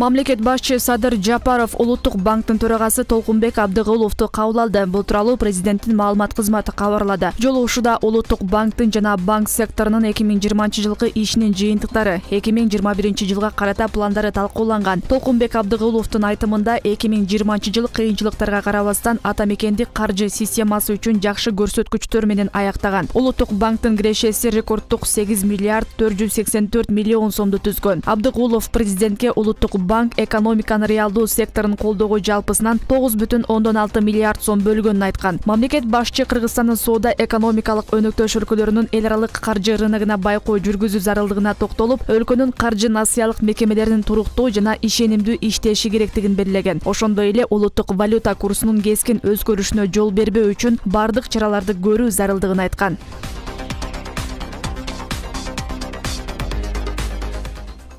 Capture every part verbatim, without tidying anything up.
Мамлекет башчы Садыр Жапаров Улуттук банктын төрагасы Толкунбек Абдыгуловду кабыл алды. Бул тууралуу президенттин маалымат кызматы кабарлады. Жолугушууда Улуттук банктын жана банк секторунун эки миң жыйырманчы жылкы ишинин жыйынтыктары, эки миң жыйырма биринчи жылга карата пландары талкууланган. Толкунбек Абдыгуловдун айтымында эки миң жыйырманчы жыл кыйынчылыктарга карабастан ата мекендик каржы системасы үчүн жакшы көрсөткүчтөр менен аяктаган. Улуттук банктын кирешеси рекордтук сегиз миллиард төрт жүз сексен төрт миллион сомду түзгөн. Абдыгулов президентке Улуттук банк экономиканын реалдуу секторун колдоого жалпысынан тогуз бүтүн ондон алты миллиард сом бөлгөнүн айткан. Мамлекет башчы Кыргызстандын соода экономикалык өнөктөш өлкөлөрүнүн эл аралык каржы рыногуна байкоо жүргүзүү зарылдыгына токтолуп, өлкөнүн каржы насыялык мекемелеринин туруктуу жана ишенимдүү иштеши керектигин белгилеген. Ошондой эле улуттук валюта курсунун кескин өзгөрүшүнө жол бербөө үчүн бардык чараларды көрүү зарылдыгын айткан.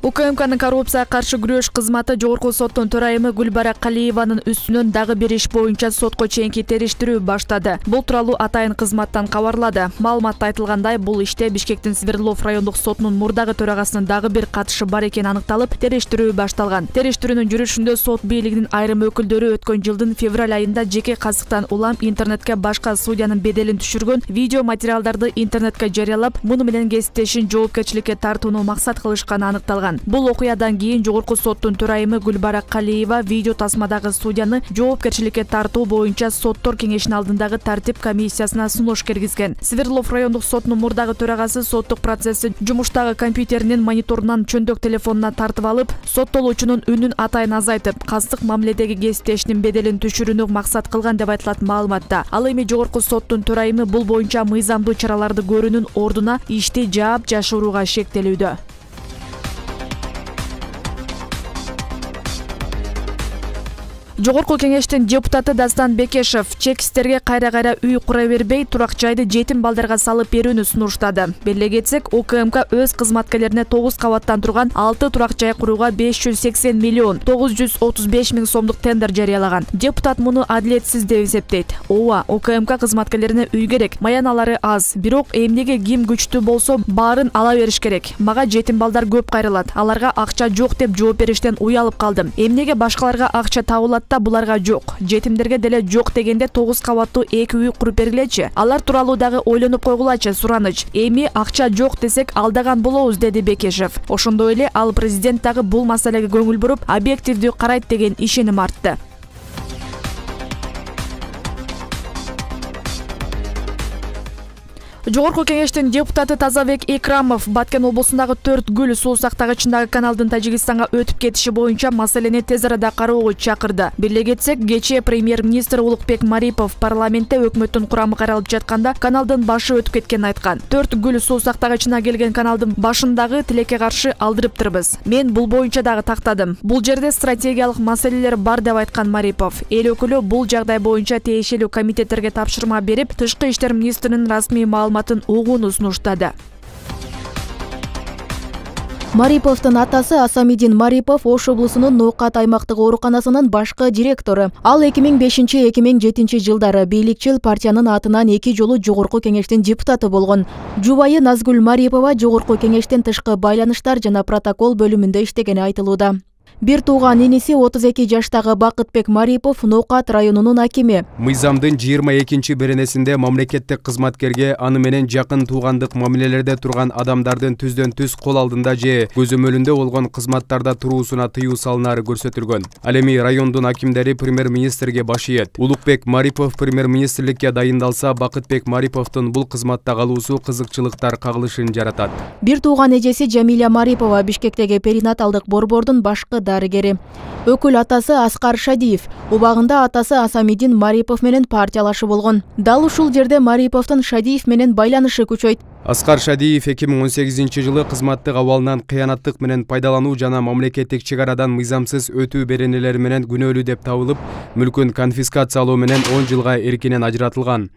УКМКнын коррупцияга каршы күрөш кызматы жогорку соттун төрайымы Гүлбара Калиеванын үстүнөн дагы бир иш боюнча сотко чейинки териштирүү баштады. Бул тууралуу атайын кызматтан кабарлады. Маалыматта айтылгандай, бул иште Бишкектин Свердлов райондук сотунун мурдагы төрагасынын дагы бир катышы бар экени аныкталып, териштирүү башталган. Териштирүүнүн жүрүшүндө сот бийлигинин айрым өкүлдөрү өткөн жылдын февраль айында жеке казыктан улам интернетке башка судьянын беделин түшүргөн видео материалдарды интернетке жарыялап, муну менен кесиптешин жоопкерчиликке тартууну максат кылышканы аныкталган. Бул окуядан кийин жогорку соттун төрайымы Гүлбара Калиева видео тасмадагы судьяны жоопкерчиликке тартуу боюнча соттор кеңешинин алдындагы тартип комиссиясына сунуш киргизген. Свердлов райондук сотунун мурдагы төрагасы соттук процессти жумуштагы компьютеринин мониторунан чөндөк телефонуна тартып алып, соттолуучунун үнүн атайын азайтып, кастык мамиледеги кесиптешинин беделин түшүрүүнү максат кылган деп айтылат маалыматта. Ал эми жогорку соттун төрайымы бул боюнча мыйзамдуу чараларды көрүүнүн ордуна ишти жаап жашырууга шектелүүдө. Жогорку кеңештин депутаты Дастан Бекешев чекистерге кайра-кайра үй кура бербей, турак жайды жетим балдарга салып берүүнү сунуштады. Беле кетсек, УКМК өз кызматкерлерине тогуз кабаттан турган алты турак жай курууга беш жүз сексен миллион тогуз жүз отуз беш миң сомдук тендер жарыялаган. Депутат муну адилетсиз деп эсептейт. Ооба, УКМК кызматкерлерине үй керек, маяналары аз. Бирок эмнеге ким күчтүү болсо, баарын ала бериш керек. Мага жетим балдар көп кайрылат. Аларга акча жок деп жооп бериштен уялып калдым. Эмнеге башкаларга акча табылат, буларга жок, жетимдерге деле жок дегенде тогуз кабаттуу эки үй куруп бергилечи. Алар тууралуу дагы ойлонуп койгулачы, сураныч. Эми акча жок десек алдаган болобуз, деди Бекешев. Ошондой эле ал президент дагы бул маселеге көңүл буруп, объективдүү карайт деген ишеним артты. Жогорку кеңештин депутаты Тазабек Экрамов Баткен облусундагы төрт гүл суу сактагычындагы каналдын Тажикстанга өтүп кетиши боюнча маселени тез арада кароого чакырды. Беле кетсек, кечээ премьер-министр Улукбек Марипов парламентте өкмөттүн курамы каралып жатканда каналдын башы өтүп кеткенин айткан. төрт гүл суу сактагычына келген каналдын башындагы тилекке каршы алдырыптырбыз. Мен бул боюнча дагы тактадым. Бул жерде стратегиялык маселелер бар деп айткан Марипов. Эл өкүлү бул жагдай боюнча тиешелүү комитеттерге тапшырма берип, тышкы иштер министринин расмий маалыматын угууну сунуштады. Мариповдун атасы Асамидин Марипов Ош облусунун Ноокат аймактык ооруканасынын башкы директору. Ал эки миң бешинчи — эки миң жетинчи жылдары бийликчил партиянын атынан эки жолу жогорку кеңештин депутаты болгон. Жубайы Назгүл Марипова жогорку кеңештин тышкы байланыштар жана протокол бөлүмүндө иштегени айтылууда. Бир тууган иниси отуз эки жаштагы Бакытбек Марипов Ноокат районунун акими. Мыйзамдын жыйырма экинчи беренесинде мамлекеттик кызматкерге аны менен жакын туугандык мамилелерде турган адамдардын түздөн түз кол алдында же көзөмөлүндө болгон кызматтарда туруусуна тыюу салынары көрсөтүлгөн. Ал эми райондун акимдери премьер-министрге баш ийет. Улукбек Марипов премьер-министрликке дайындалса, Бакытбек Мариповдун бул кызматта калуусу кызыкчылыктар кагылышын жаратат. Бир тууган эжеси Жамиля Марипова Бишкектеги перинаталдык борбордун башкы дарыгери. Өкүл атасы Аскар Шадиев. Убагында атасы Асамидин Марипов менен партиялашы болгон. Дал ушул жерде Мариповдун Шадиев менен байланышы күчөйт. Аскар Шадиев эки миң он сегизинчи жылы кызматтык абалынан кыянаттык менен пайдалануу жана мамлекеттик чек арадан мыйзамсыз өтүү беренелери менен күнөөлүү деп табылып, мүлкүн конфискациялоо менен он жылга эркинен ажыратылган.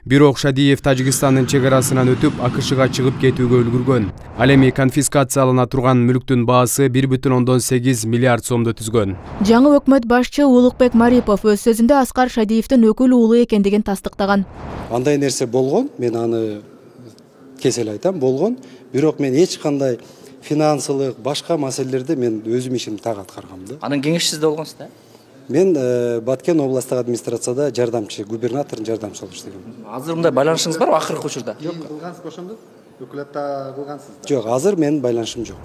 Бирок Шадиев Тажикстандын чек арасынан өтүп, АКШга чыгып кетүүгө үлгүргөн. Ал эми конфискациялана турган мүлктүн баасы бир бүтүн ондон сегиз миллиард сомду түзгөн. Жаңы өкмөт башчы Улукбек Марипов өз сөзүндө Аскар Шадиевдин өкүл уулу экендигин тастыктаган. Андай нерсе болгон, мен аны кесел айтам, болгон. Бирок мен эч кандай финансылык, башка маселелерде мен өзүм ишимди так аткаргам да. Анын кеңешчиси болгонсуз да? Мен Баткен областык администрацияда жардамчы, губернатордун жардамчысы болуп иштегем. Азыр мындай байланышыңыз барбы акыркы учурда? Жок, кылгансыз ошондо? Өкүлөттө кылгансыз да? Жок, азыр менин байланышым жок.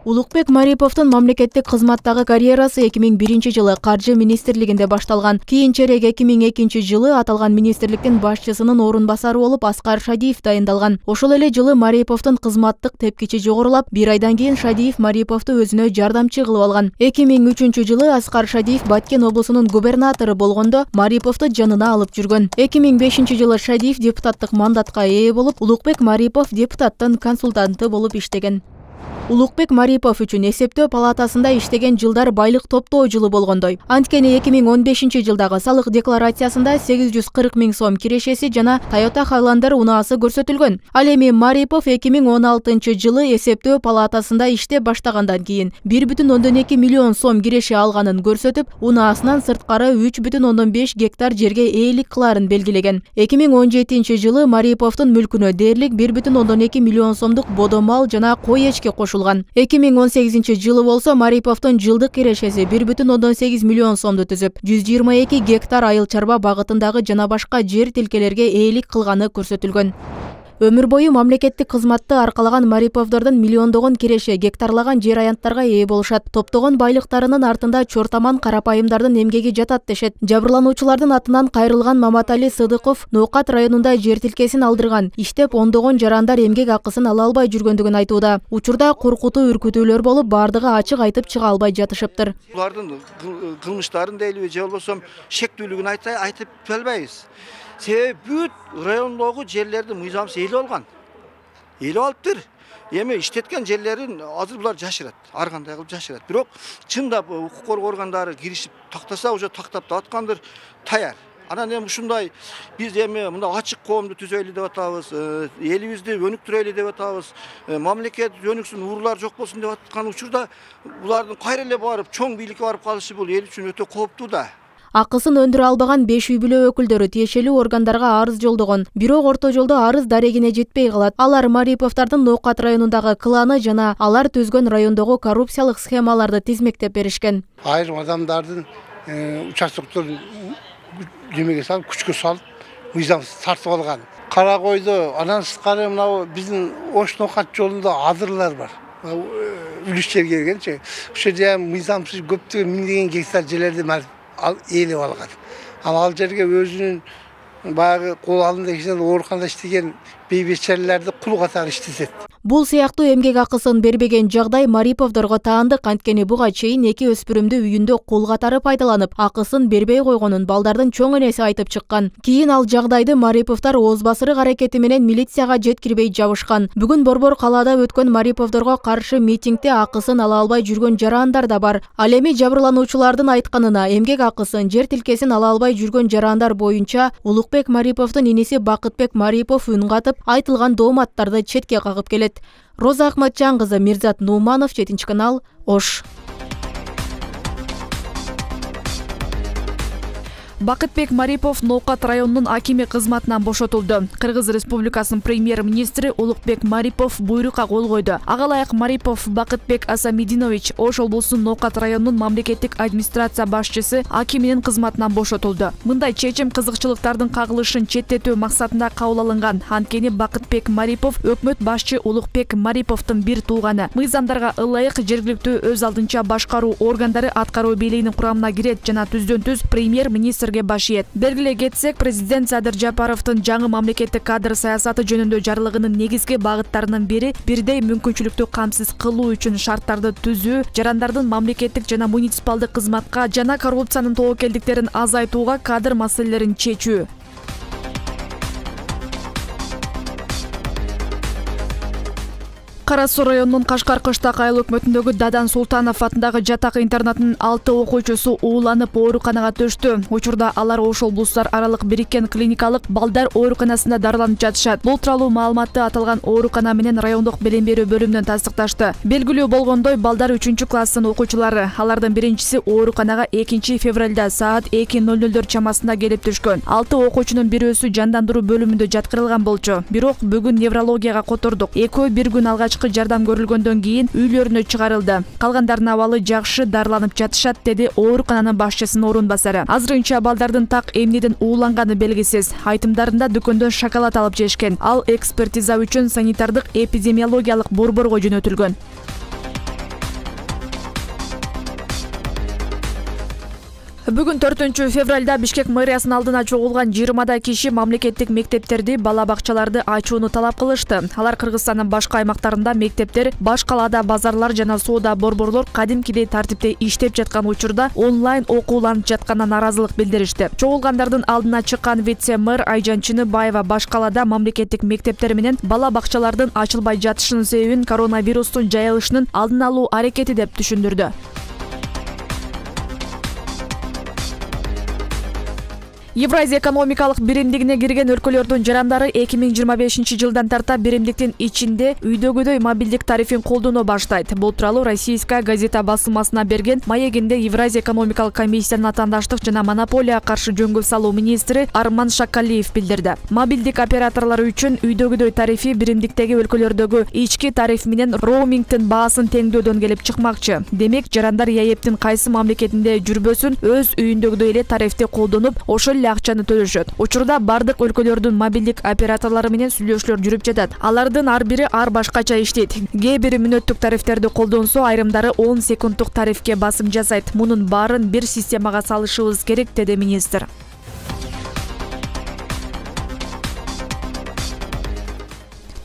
Улукбек Мариповдун мамлекеттик кызматтагы карьерасы эки миң биринчи жылы Каржы министрлигинде башталган. Кийинчерээк эки миң экинчи жылы аталган министрликтин башчысынын орун басары болуп Аскар Шадиев дайындалган. Ошол эле жылы Мариповдун кызматтык тепкичи жогорулап, бир айдан кийин Шадиев Мариповду өзүнө жардамчы кылып алган. эки миң үчүнчү жылы Аскар Шадиев Баткен облусунун губернатору болгондо Мариповду жанына алып жүргөн. эки миң бешинчи жылы Шадиев депутаттык мандатка ээ болуп, Улукбек Марипов депутаттын консультанты болуп иштеген. Улукбек Марипов үчүн эсептөө палатасында иштеген жылдар байлык топтоо жылы болгондой. Анткени эки миң он бешинчи жылдагы салык декларациясында сегиз жүз кырк миң сом кирешеси жана Toyota Highlander унаасы көрсөтүлгөн. Ал эми Марипов эки миң он алтынчы жылы эсептөө палатасында иштеп баштагандан кийин бир бүтүн ондон эки миллион сом киреше алганын көрсөтүп, унаасынан сырткары үч бүтүн ондон беш гектар жерге ээлик кылаарын белгилеген. эки миң он жетинчи жылы Мариповдун мүлкүнө дээрлик бир бүтүн ондон эки миллион сомдук бодо мал жана кой эчке кошулган. эки миң он сегизинчи жылы болсо Мариповдун жылдык кирешеси бир бүтүн ондон сегиз миллион сомду түзүп, жүз жыйырма эки гектар айыл чарба багытындагы жана башка жер тилкелерге ээлик кылганы көрсөтүлгөн. Өмүр бою мамлекеттик кызматты аркалаган Мариповдордун миллиондогон киреше гектарлаган жер аянттарга ээ болушат. Топтогон байлыктарынын артында чортаман карапайымдардын эмгеги жатат дешет. Жабырлануучулардын атынан кайрылган Маматали Сыдыков Ноокат районунда жер тилкесин алдырган. Иштеп ондогон жарандар эмгек акысын ала албай жүргөндүгүн айтууда. Учурда коркутуу үркүтүүлөр болуп, бардыгы ачык айтып чыга албай жатышыптыр. Булардын кылмыштарын дейлиби же болбосо шектүүлүгүн айтып албайбыз. Себеби бүт райондогу жерлерди мыйзамсыз ээлеп алган. Ээлеп алыптыр. Эми иштеткен жерлерин азыр булар жашырат. Ар кандай кылып жашырат. Бирок чындап укук коргоо органдары киришип тактаса, уже тактап да аткандыр, таяр. Анан эми ушундай биз эми мындай ачык коомду түзөйлү деп атабыз, элибизди өнүктүрөлү деп атабыз, мамлекет өнүксүн, уруулар жок болсун деп аткан учурда булардын кайра эле барып чоң бийликке барып калышы бул эл үчүн өтө кооптуу да. Акысын өндүрө албаган беш үй бүлө өкүлдөрү тиешелүү органдарга арыз жолдогон. Бирок орто жолдо арыз дарегине жетпей калат. Алар Мариповдордун Ноокат районундагы кланы жана алар түзгөн райондогу коррупциялык схемаларды тизмектеп беришкен. Айрым адамдардын участокторун жемеге салып, күчкө салып, мыйзамсыз тартып алган. Кара койду, анан сырткары мына биздин Ош Ноокат жолунда адырлар бар. Үлүш жерге келгенчи, ошо жерде мыйзамсыз көптөгөн миңдеген гектар жерлерди ал ээлеп алган. Ал ал жерге өзүнүн баягы кол алдында иштеген, ооруканада иштеген бейбечелерди кул катары иштетет. Бул сыяктуу эмгек акысын бербеген жагдай Мариповдорго таандык. Анткени буга чейин эки өспүрүмдү үйүндө кул катары пайдаланып, акысын бербей койгонун балдардын чоң энеси айтып чыккан. Кийин ал жагдайды Мариповдор ооз басырык аракети менен милицияга жеткирбей жабышкан. Бүгүн Борбор калаада өткөн Мариповдорго каршы митингде акысын ала албай жүргөн жарандар да бар. Ал эми жабырлануучулардын айтканына, эмгек акысын, жер тилкесин ала албай жүргөн жарандар боюнча Улукбек Мариповдун иниси Бакытбек Марипов үн катып, айтылган дооматтарды четке кагып келет. Роза Ахматжан кызы, Мирзат Нууманов, жетинчи канал, Ош. Бакытбек Марипов Ноокат районунун акими кызматынан бошотулду. Кыргыз Республикасынын премьер-министри Улукбек Марипов буйрукка кол койду. Ага ылайык Марипов Бакытбек Асамидинович Ош облусунун Ноокат районунун мамлекеттик администрация башчысы акиминин кызматынан бошотулду. Мындай чечим кызыкчылыктардын кагылышын четтетүү максатында кабыл алынган. Анткени Бакытбек Марипов өкмөт башчы Улукбек Мариповдун бир тууганы. Мыйзамдарга ылайык жергиликтүү өз алдынча башкаруу органдары аткаруу бийлигинин курамына кирет жана түздөн-түз премьер-министр баш ийет. Белгилей кетсек, президент Садыр Жапаровдун жаңы мамлекеттик кадр саясаты жөнүндө жарлыгынын негизги багыттарынын бири бирдей мүмкүнчүлүктү камсыз кылуу үчүн шарттарды түзүү, жарандардын мамлекеттик жана муниципалдык кызматка жана коррупциянын тобокелдиктерин азайтууга кадр маселелерин чечүү. Кара Суу районунун Кашкар Кыштак айыл өкмөтүндөгү Дадан Султанов атындагы жатак интернатынын алты окуучусу ууланып ооруканага төштү. Учурда алар Ош облустар аралык бириккен клиникалык балдар ооруканасында дарыланып жатышат. Бул тууралуу маалыматты аталган оорукана менен райондук билим берүү бөлүмүнөн тастыкташты. Белгилүү болгондой, балдар үчүнчү класстын окуучулары. Алардын биринчиси ооруканага экинчи февралда саат эки ноль нолдор чамасында келип түшкөн. алты окуучунун бирөөсү жандандыруу бөлүмүндө жаткырылган болчу. Бирок бүгүн неврологияга котордук. Экөө бир күн алгач алгачкы жардам көрүлгөндөн кийин үйлөрүнө чыгарылды. Калгандарынын абалы жакшы, дарыланып жатышат, деди оорукананын башчысынын орун басары. Азырынча балдардын так эмнеден ууланганы белгисиз. Айтымдарында дүкөндөн шоколад алып жешкен. Ал экспертиза үчүн санитардык эпидемиологиялык борборго жөнөтүлгөн. Бүгүн төртүнчү февралда Бишкек мэриясынын алдына чогулган жыйырмадай киши мамлекеттик мектептерди, бала бакчаларды ачууну талап кылышты. Алар Кыргызстандын башка аймактарында мектептер, баш калаада базарлар жана соода борборлор кадимкидей тартипте иштеп жаткан учурда онлайн окууланып жатканына наразылык билдиришти. Чогулгандардын алдына чыккан вице-мэр Айжан Чыныбаева баш калаада мамлекеттик мектептер менен бала бакчалардын ачылбай жатышынын себебин коронавирустун жайылышынын алдын алуу аракети деп түшүндүрдү. Евразия экономикалык биримдигине кирген өлкөлөрдүн жарандары эки миң жыйырма бешинчи жылдан тарта биримдиктин ичинде үйдөгүдөй мобилдик тарифин колдоно баштайт. Бул тууралуу Российская газета басылмасына берген маегинде Евразия экономикалык комиссиянын атаандаштык жана монополияга каршы жөнгө салуу министри Арман Шакалиев билдирди. Мобилдик операторлору үчүн үйдөгүдөй тарифи биримдиктеги өлкөлөрдөгү ички тариф менен роумингдин баасын теңдөөдөн келип чыкмакчы. Демек, жарандар ЕАЭПтин кайсы мамлекетинде жүрбөсүн өз үйүндөгүдөй эле тарифти колдонуп, ошол акчаны төлөшөт. Учурда бардык өлкөлөрдүн мобилдик операторлору менен сүйлөшүүлөр жүрүп жатат. Алардын ар бири ар башкача иштейт. Кээ бири мүнөттүк тарифтерди колдонсо, айрымдары он секундтук тарифке басым жасайт. Мунун баарын бир системага салышыбыз керек, деди министр.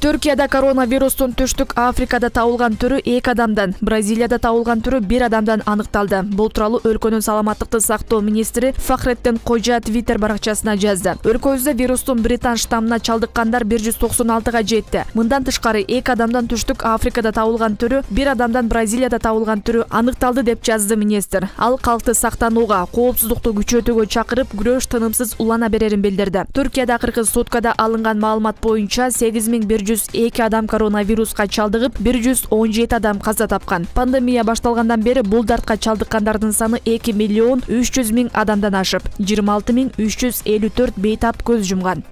Түркияда коронавирустун түштүк Африкада табылган түрү эки адамдан, Бразилияда табылган түрү бир адамдан аныкталды. Бул тууралуу өлкөнүн саламаттыкты сактоо министри Фахреттин Кожа Твиттер баракчасына жазды. Өлкөбүздө вирустун британ штаммына чалдыккандар бир жүз токсон алтыга жетти. Мындан тышкары эки адамдан түштүк Африкада табылган түрү, бир адамдан Бразилияда табылган түрү аныкталды деп жазды министр. Ал калкты сактанууга, коопсуздукту күчөтүүгө чакырып, күрөш тынымсыз улана берерин билдирди. Түркияда акыркы суткада алынган маалымат боюнча сегиз миң бир жүз эки адам коронавируска чалдыгып, бир жүз он жети адам каза тапкан. Пандемия башталгандан бери бул дартка чалдыккандардын саны эки миллион үч жүз миң адамдан ашып, жыйырма алты миң үч жүз элүү төрт бейтап көз жумган.